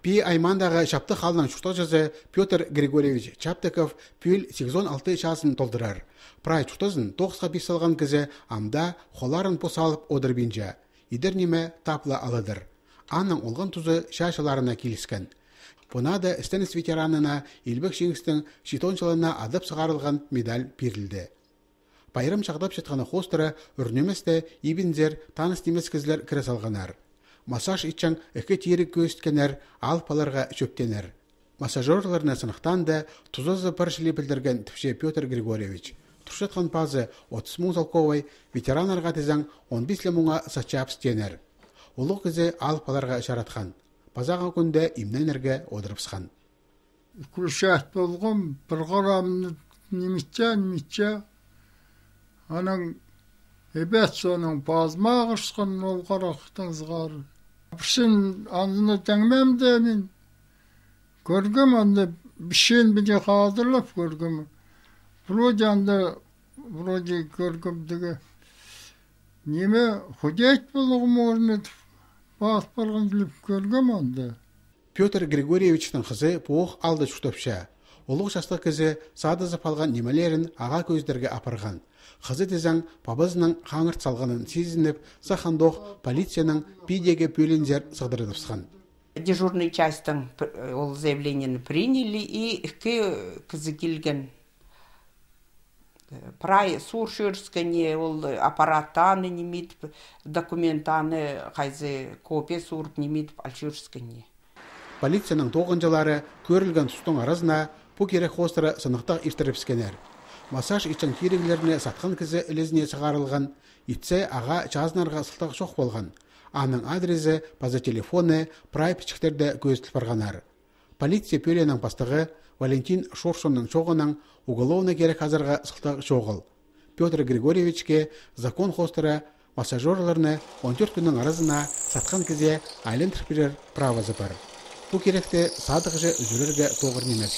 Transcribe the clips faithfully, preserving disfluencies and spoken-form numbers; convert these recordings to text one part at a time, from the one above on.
Пии аймаандағы Чаптых аалның чуртағҷызы Пётр Григорьевич Чаптыков пӱӱл сигізон алты чазын толдырар. Прай чуртазын тоғысха пис салған кізі амды холларын пос алып одырбинча. Идер ниме тапла аладыр. Аның олған тузы чаа чылларына киліскен. Пу наада істеніс ветеранына Илбек Чиңістің читон чылына адап сығарылған медаль пирілді. Пайрам чағдапчатханы хоостыра ӱр ниместе ибінзер, таныс нимес кізілер кіре салғаннар. Массаж итчең ікі тиріг кӧзіткеннер, аал паларға чӧптеннер. Массажёрларны сынахтаанда тузазы пар чіли пілдірген, тіпче Пётр Григорьевич. Турчатхан пазы отыс муң салковай, ветераннарға тізең он пис ле муңа сатчабыс тееннер. Улуғ кізі аал паларға чаратхан. Пазағы кӱнде имненерге одырыбысхан. Включать полғам, пір хырамны ниметче, ниметче. Анаң ибет соонаң пазыма ағырысхан ол харахтаң сығара. Пірсін анзына теңмем де мин. Кӧргем анда, пісчең піди хазырлап кӧргем. Вроде анда, вроде кӧргем тігі. Ниме, худеть поларға можно, пас парған киліп кӧргем анда. Пётр Григорьевичтің хызы пу ох аалда чуртапча. Улуғ частығ кізі садызып алған нимелерін ағаа кӧзідерге апарған. Хызы тізең пабазының хаңырт салғанын сизініп, сах андох полицияның пидегі пӧлиинзер сығдырадыбысхан. Дежурный частьтаң пр-, ол заявлениені приняли, и ікі кізі килген. Прай сур чӧріскеннер, ол аппараттаң ниме идіп, документтаң хайзы копия суурып, ниме идіп ал чӧріскеннер. Полицияның тоғынҷылары кӧрілген тустың аразына пу кирек хоостыра сынахтығ иртірібіскеннер. Массаж итчең тиріглерні сатхан кізі ілезіне сығарылған, итсе, ағаа чазынарға сылтағ чох полған. Аның адрезі паза телефоны прай пічіктерде кӧзіт парғаннар. Полиция пӧлиинің пастығы Валентин Шоршонның чооғынаң уголовнай кирек азарға сылтағ чоғыл. Пётр Григорьевичке закон хоостыра массажёрларны он тӧрт кӱннің аразына сатхан кізее айландыр пирер правазы пар. Пу киректі садығҷы ӱзӱрерге тоғыр нимес.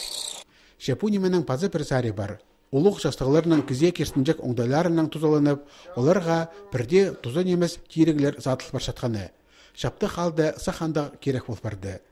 Че пу нименің паза пір сари пар. Улуғ частығларның кізее киртінҷек оңдайларынаң тузаланып, оларға пірдее туза нимес тиріглер садыл парчатханы. Чаптых аалда сах андағ кирек пол парды.